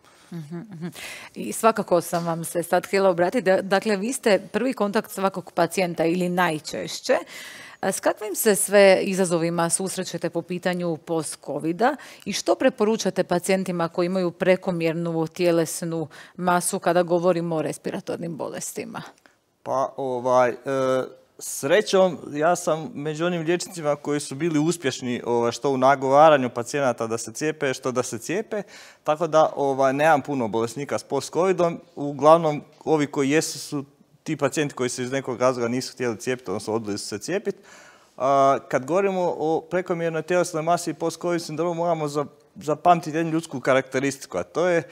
I svakako sam vam se sad htjela obratiti. Dakle, vi ste prvi kontakt svakog pacijenta ili najčešće. S kakvim se sve izazovima susrećete po pitanju post-covida i što preporučate pacijentima koji imaju prekomjernu tjelesnu masu kada govorimo o respiratornim bolestima? Pa, ovaj... E... Srećom, ja sam među onim liječnicima koji su bili uspješni ovaj, što u nagovaranju pacijenata da se cijepe, što da se cijepe, tako da ovaj, nemam puno bolesnika s post-covidom. Uglavnom, ovi koji jesu su ti pacijenti koji se iz nekog razloga nisu htjeli cijepiti, odnosno odbili su se cijepiti. Kad govorimo o prekomjernoj tjelesnoj masi i post-covid sindromu, moramo zapamtiti jednu ljudsku karakteristiku, a to je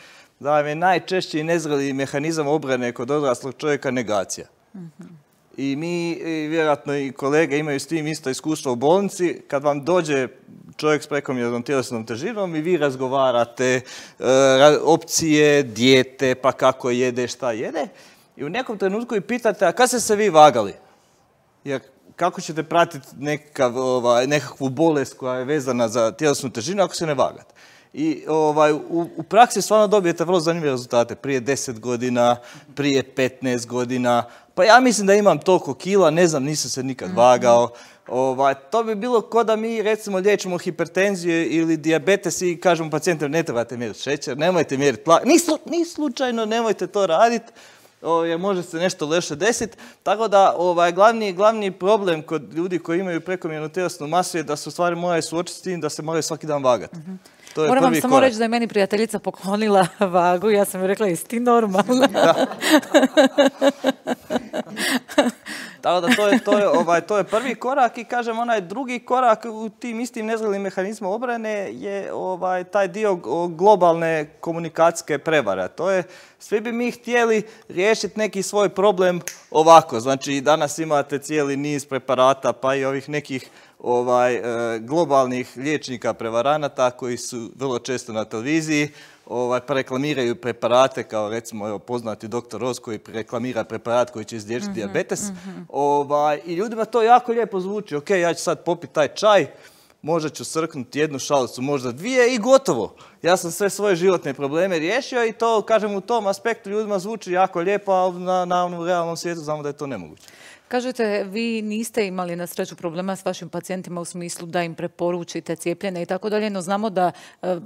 da je najčešći nezreli mehanizam obrane kod odraslog čovjeka negacija. Mm-hmm. I mi, i vjerojatno i kolege imaju s tim isto iskustvo u bolnici, kad vam dođe čovjek s prekomjernom tjelesnom težinom i vi razgovarate e, opcije, dijete, pa kako jede, šta jede, i u nekom trenutku i pitate, a kad ste se vi vagali? Jer kako ćete pratiti nekakav, ovaj, nekakvu bolest koja je vezana za tjelesnu težinu ako se ne vagate? I ovaj, u, u praksi stvarno dobijete vrlo zanimljive rezultate. Prije deset godina, prije petnaest godina. Pa ja mislim da imam toliko kila, ne znam, nisam se nikad vagao. Ovaj, to bi bilo ko da mi recimo liječimo hipertenziju ili dijabetes i kažemo pacijentima ne trebate mjeriti šećer, nemojte mjeriti tlak. Ni, slu, ni slučajno nemojte to raditi. Jer može se nešto loše desiti. Tako da ovaj, glavni, glavni problem kod ljudi koji imaju prekomjernu tjelesnu masu je da se u stvari moraju suočiti s tim da se moraju svaki dan vagati. Mm-hmm. Moram vam samo reći da je meni prijateljica poklonila vagu. Ja sam joj rekla, jesi ti normalna? Da. Tako da to je, to, je, ovaj, to je prvi korak i kažem onaj drugi korak u tim istim nezrelim mehanizmima obrane je ovaj, taj dio globalne komunikacijske prevare. To je, svi bi mi htjeli riješiti neki svoj problem ovako. Znači danas imate cijeli niz preparata pa i ovih nekih ovaj, e, globalnih liječnika prevaranata koji su vrlo često na televiziji, ovaj, pa reklamiraju preparate kao recimo evo, poznati doktor Roz koji reklamira preparat koji će izliječiti mm-hmm, dijabetes. Mm-hmm. Ovaj, I ljudima to jako lijepo zvuči. Ok, ja ću sad popiti taj čaj, možda ću srknuti jednu šalicu, možda dvije i gotovo. Ja sam sve svoje životne probleme riješio i to, kažem, u tom aspektu ljudima zvuči jako lijepo, a na, na, na realnom svijetu znamo da je to nemoguće. Kažete, vi niste imali na sreću problema s vašim pacijentima u smislu da im preporučite cijepljenje i tako dalje, no znamo da e,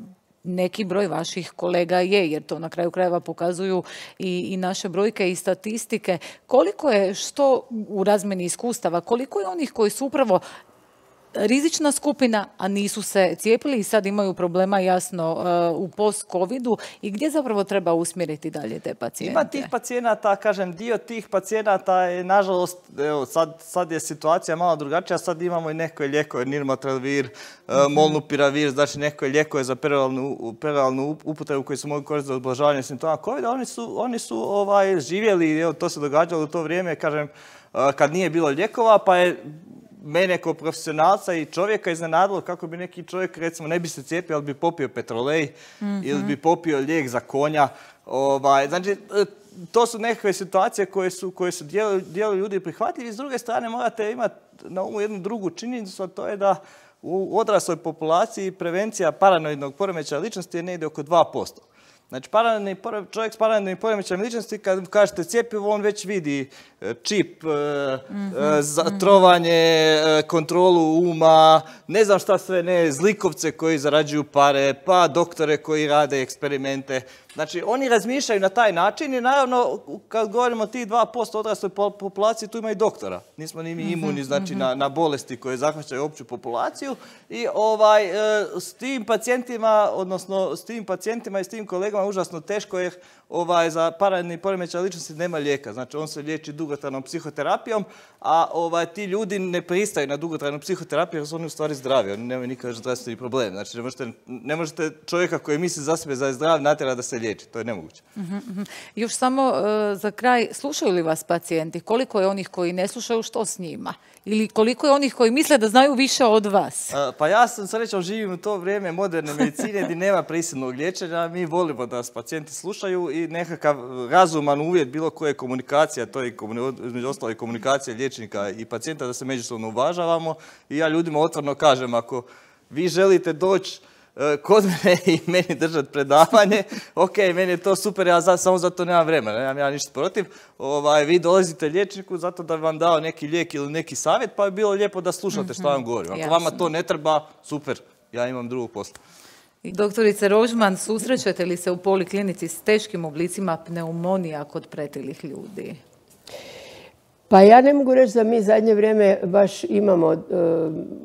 neki broj vaših kolega je, jer to na kraju krajeva pokazuju i, i naše brojke i statistike. Koliko je, što u razmjeni iskustava, koliko je onih koji su upravo rizična skupina, a nisu se cijepili i sad imaju problema jasno u post-covidu i gdje zapravo treba usmjeriti dalje te pacijente? Ima tih pacijenata, kažem, dio tih pacijenata je, nažalost, evo, sad, sad je situacija malo drugačija, sad imamo i neke lijekove, nirmatrelvir, mm-hmm. molnupiravir, znači neke lijekove za peroralnu, peroralnu upotrebu koji se mogu koristiti za ublažavanje simptoma covida, oni su, oni su ovaj, živjeli, evo, to se događalo u to vrijeme, kažem, kad nije bilo lijekova, pa je mene kao profesionalca i čovjeka iznenadilo kako bi neki čovjek, recimo, ne bi se cijepio, ali bi popio petrolej mm-hmm. ili bi popio lijek za konja. Ovaj, znači, to su nekakve situacije koje su, koje su dijelu, dijelu ljudi prihvatljivi. S druge strane, morate imati na umu jednu drugu činjenicu, a to je da u odrasloj populaciji prevencija paranoidnog poremećaja ličnosti je negdje oko dva posto. Znači, paranoidni pore- čovjek s paranoidnim poremećajem ličnosti, kad kažete cjepivo, on već vidi e, čip, e, e, za- trovanje, e, kontrolu uma, ne znam šta sve ne, zlikovce koji zarađuju pare, pa doktore koji rade eksperimente. Znači, oni razmišljaju na taj način i naravno, kad govorimo o tih dva posto odrasloj po- populaciji, tu ima i doktora. Nismo ni mi imuni, znači, na, na bolesti koje zahvaćaju opću populaciju i ovaj, e, s tim pacijentima, odnosno s tim pacijentima i s tim kolegama užasno teško jer ovaj, za paranoidni poremećaj ličnosti nema lijeka. Znači, on se liječi dugotrajnom psihoterapijom, a ovaj, ti ljudi ne pristaju na dugotrajnu psihoterapiju jer su oni u stvari zdravi, oni nemaju nikakav zdravstveni problem. Znači, ne možete, ne možete čovjeka koji misli za sebe da je zdrav natjerati da se liječi, to je nemoguće. Još samo e, za kraj, slušaju li vas pacijenti? Koliko je onih koji ne slušaju, što s njima? Ili koliko je onih koji misle da znaju više od vas? A, Pa ja sam srećom živim u to vrijeme moderne medicine gdje nema prisilnog liječenja. Mi volimo da nas pacijenti slušaju i nekakav razuman uvjet bilo koje komunikacija, to je komuni- između ostalo i komunikacija liječnika i pacijenta, da se međusobno uvažavamo. I ja ljudima otvoreno kažem, ako vi želite doći e, kod mene i meni držati predavanje, ok, meni je to super, ja za, samo zato nemam vremena, nemam ja ništa protiv. Ovaj, vi dolazite liječniku zato da bi vam dao neki lijek ili neki savjet, pa je bilo lijepo da slušate što vam govorim. Ako vama jasno. to ne treba, super, ja imam drugog posla. Doktorice Rožman, susrećete li se u poliklinici s teškim oblicima pneumonija kod pretilih ljudi? Pa ja ne mogu reći da mi zadnje vrijeme baš imamo e,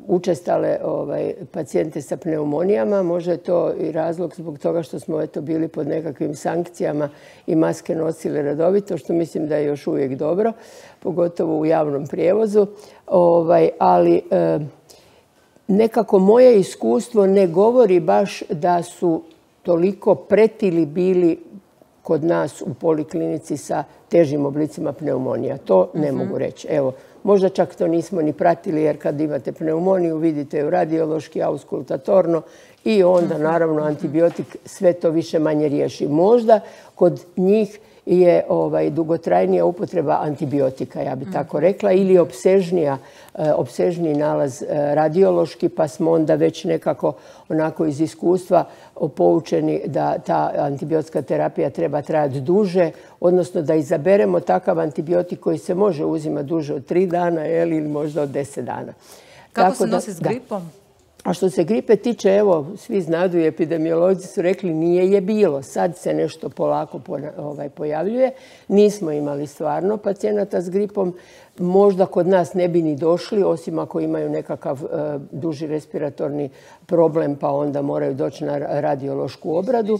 učestale ovaj, pacijente sa pneumonijama. Možda je to i razlog zbog toga što smo eto, bili pod nekakvim sankcijama i maske nosili redovito, što mislim da je još uvijek dobro, pogotovo u javnom prijevozu. Ovaj, ali e, nekako moje iskustvo ne govori baš da su toliko pretili bili kod nas u poliklinici sa težim oblicima pneumonija. To ne mogu reći. Evo, možda čak to nismo ni pratili jer kad imate pneumoniju vidite ju radiološki, auskultatorno i onda naravno antibiotik sve to više manje riješi. Možda kod njih je ovaj, dugotrajnija upotreba antibiotika, ja bi tako rekla, ili opsežnija, e, opsežniji nalaz e, radiološki, pa smo onda već nekako onako iz iskustva poučeni da ta antibiotska terapija treba trajati duže, odnosno da izaberemo takav antibiotik koji se može uzimati duže od tri dana jel, ili možda od deset dana. Kako Tako se da- nosi s da. gripom? A što se gripe tiče, evo, svi znadu i epidemiolozi su rekli nije je bilo. Sad se nešto polako pona- ovaj, pojavljuje. Nismo imali stvarno pacijenata s gripom. Možda kod nas ne bi ni došli, osim ako imaju nekakav e, duži respiratorni problem, pa onda moraju doći na ra- radiološku obradu.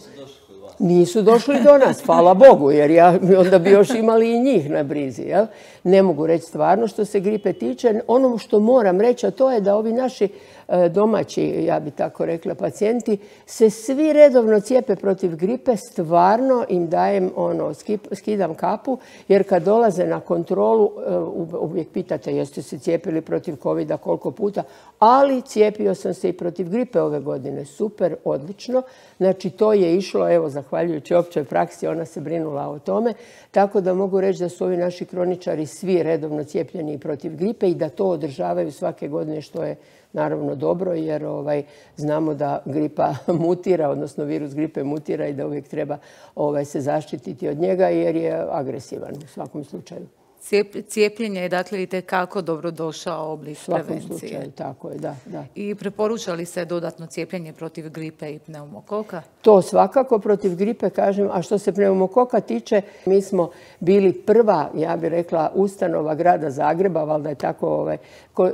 Nisu došli do nas, hvala Bogu, jer ja, onda bi još imali i njih na brizi. Jel? Ne mogu reći stvarno što se gripe tiče. Ono što moram reći, a to je da ovi naši e, domaći, ja bi tako rekla, pacijenti se svi redovno cijepe protiv gripe, stvarno im dajem ono, skip- skidam kapu, jer kad dolaze na kontrolu, e, u- uvijek pitate jeste se cijepili protiv covida koliko puta, ali cijepio sam se i protiv gripe ove godine. Super, odlično. Znači to je išlo, evo, zahvaljujući općoj praksi, ona se brinula o tome, tako da mogu reći da su ovi naši kroničari svi redovno cijepljeni i protiv gripe i da to održavaju svake godine, što je naravno dobro, jer ovaj, znamo da gripa mutira, odnosno virus gripe mutira i da uvijek treba ovaj, se zaštititi od njega jer je agresivan u svakom slučaju. Cijep- Cijepljenje je dakle itekako dobrodošao oblik U svakom prevencije. slučaju, tako je, da, da. I preporuča li se dodatno cijepljenje protiv gripe i pneumokoka? To svakako protiv gripe, kažem. A što se pneumokoka tiče, mi smo bili prva, ja bih rekla, ustanova grada Zagreba, valjda je tako ovaj, ko, e,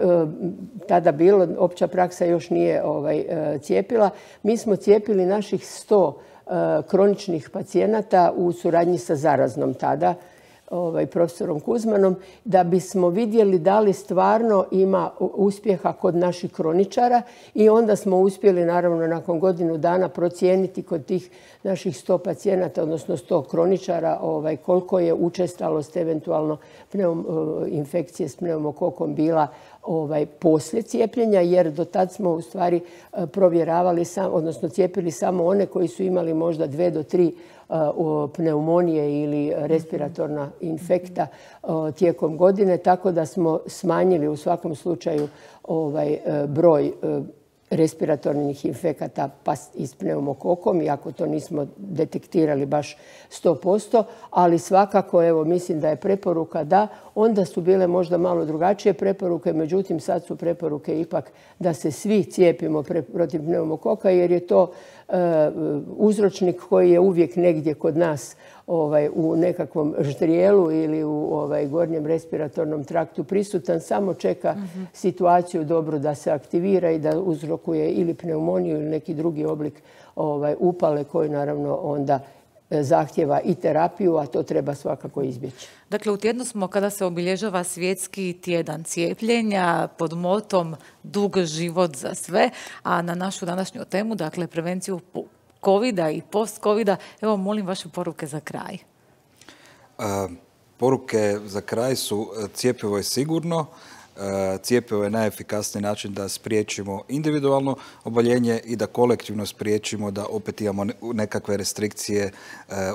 tada bilo, opća praksa još nije ovaj, e, cijepila. Mi smo cijepili naših sto e, kroničnih pacijenata u suradnji sa Zaraznom tada, ovaj, profesorom Kuzmanom, da bismo vidjeli da li stvarno ima uspjeha kod naših kroničara i onda smo uspjeli naravno nakon godinu dana procijeniti kod tih naših sto pacijenata, odnosno sto kroničara, ovaj, koliko je učestalost eventualno pneum, infekcije s pneumokokom bila ovaj, poslije cijepljenja, jer do tad smo u stvari provjeravali, sam, odnosno cijepili samo one koji su imali možda dve do tri pneumonije ili respiratorna infekta tijekom godine, tako da smo smanjili u svakom slučaju ovaj broj respiratornih infekata pa i s pneumokokom, iako to nismo detektirali baš sto posto, ali svakako evo mislim da je preporuka da, onda su bile možda malo drugačije preporuke, međutim sad su preporuke ipak da se svi cijepimo protiv pneumokoka jer je to e, uzročnik koji je uvijek negdje kod nas ovaj, u nekakvom ždrijelu ili u ovaj, gornjem respiratornom traktu prisutan, samo čeka mm-hmm. situaciju dobro da se aktivira i da uzrokuje ili pneumoniju ili neki drugi oblik ovaj, upale koji naravno onda zahtjeva i terapiju, a to treba svakako izbjeći. Dakle, u tjednu smo kada se obilježava svjetski tjedan cijepljenja pod motom dug život za sve, a na našu današnju temu, dakle, prevenciju covida i post-covida, evo, molim vaše poruke za kraj. A, poruke za kraj su cjepivo je sigurno, cjepivo je najefikasniji način da spriječimo individualno oboljenje i da kolektivno spriječimo da opet imamo nekakve restrikcije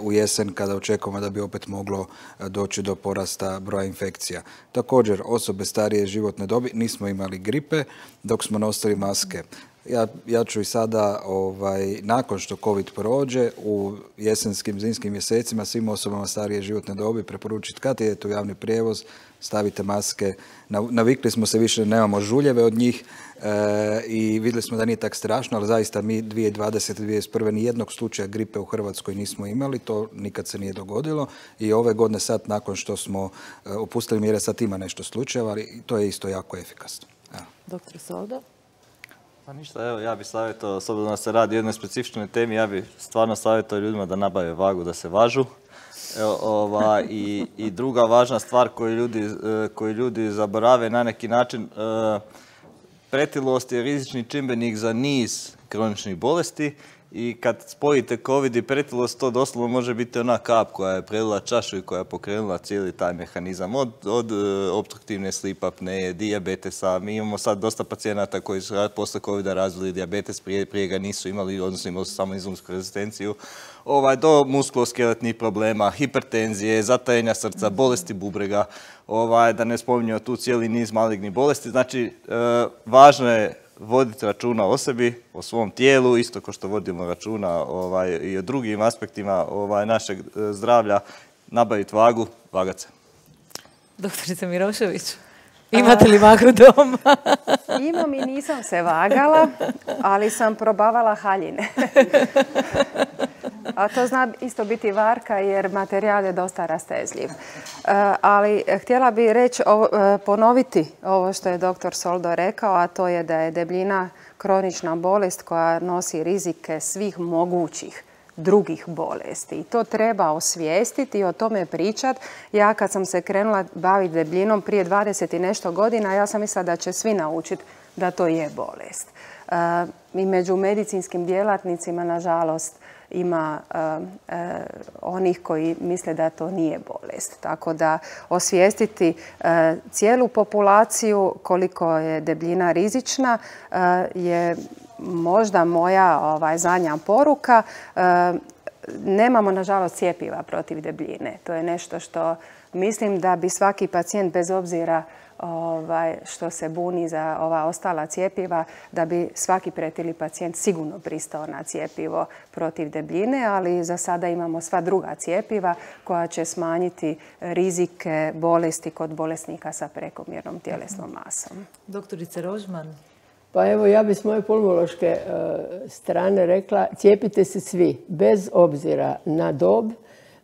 u jesen kada očekujemo da bi opet moglo doći do porasta broja infekcija. Također, osobe starije životne dobi nismo imali gripe dok smo nosili maske. Ja, ja ću i sada, ovaj, nakon što COVID prođe, u jesenskim, zimskim mjesecima svim osobama starije životne dobi preporučiti kad idete u javni prijevoz, stavite maske. Navikli smo se više da nemamo žuljeve od njih e, i vidjeli smo da nije tak strašno, ali zaista mi dvije tisuće dvadesete. dvije tisuće dvadeset prve nijednog slučaja gripe u Hrvatskoj nismo imali, to nikad se nije dogodilo i ove godine sad, nakon što smo e, opustili mjere, sad ima nešto slučajeva, ali to je isto jako efikasno. Evo. Doktor Soldo? Pa ništa, evo, ja bih savjetovao, s obzirom da se radi o jednoj specifičnoj temi, ja bih stvarno savjetovao ljudima da nabave vagu, da se važu. Evo, ova, i, i druga važna stvar koju ljudi, koju ljudi zaborave na neki način, pretilost je rizični čimbenik za niz kroničnih bolesti i kad spojite COVID i pretilost, to doslovno može biti ona kap koja je prelila čašu i koja je pokrenula cijeli taj mehanizam. Od, od opstruktivne sleep apneje, dijabetesa. Mi imamo sad dosta pacijenata koji su posle COVID-a razvili dijabetes, prije, prije ga nisu imali, odnosno imali su samo inzulinsku rezistenciju. Ovaj, do muskuloskeletnih problema, hipertenzije, zatajenja srca, bolesti bubrega, ovaj, da ne spominjemo tu cijeli niz malignih bolesti. Znači, e, važno je voditi računa o sebi, o svom tijelu, isto kao što vodimo računa ovaj, i o drugim aspektima ovaj, našeg zdravlja, nabaviti vagu, vagat se. Doktorica Mirošević, imate li vagu doma? Imam i nisam se vagala, ali sam probavala haljine. A to zna isto biti varka jer materijal je dosta rastezljiv. Ali htjela bih reći, ponoviti ovo što je doktor Soldo rekao, a to je da je debljina kronična bolest koja nosi rizike svih mogućih drugih bolesti. I to treba osvijestiti i o tome pričati. Ja kad sam se krenula baviti debljinom prije dvadeset i nešto godina, ja sam mislila da će svi naučiti da to je bolest. I među medicinskim djelatnicima, nažalost, ima uh, uh, onih koji misle da to nije bolest. Tako da osvijestiti uh, cijelu populaciju koliko je debljina rizična uh, je možda moja ovaj, zadnja poruka. Uh, nemamo, nažalost, cjepiva protiv debljine. To je nešto što mislim da bi svaki pacijent, bez obzira Ovaj, što se buni za ova ostala cjepiva, da bi svaki pretili pacijent sigurno pristao na cjepivo protiv debljine, ali za sada imamo sva druga cjepiva koja će smanjiti rizike bolesti kod bolesnika sa prekomjernom tjelesnom masom. Doktorice Rožman? Pa evo, ja bi s moje pulmološke uh, strane rekla, cijepite se svi, bez obzira na dob,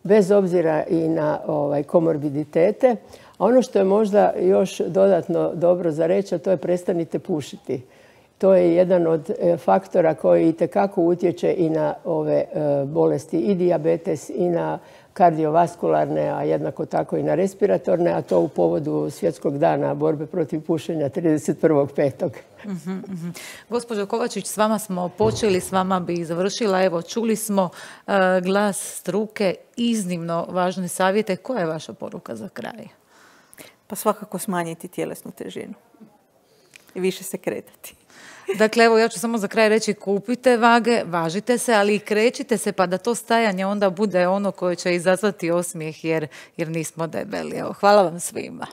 bez obzira i na ovaj, komorbiditete. A ono što je možda još dodatno dobro za reći, a to je prestanite pušiti. To je jedan od faktora koji itekako utječe i na ove bolesti, i dijabetes, i na kardiovaskularne, a jednako tako i na respiratorne, a to u povodu Svjetskog dana borbe protiv pušenja trideset prvog petog Uh-huh, uh-huh. Gospođo Kovačić, s vama smo počeli, s vama bi završila. Evo, čuli smo uh, glas struke, iznimno važne savjete. Koja je vaša poruka za kraj? Pa svakako smanjiti tjelesnu težinu i više se kretati. Dakle, evo, ja ću samo za kraj reći, kupite vage, važite se, ali i krećite se pa da to stajanje onda bude ono koje će izazvati osmijeh jer, jer nismo debeli. Evo, hvala vam svima.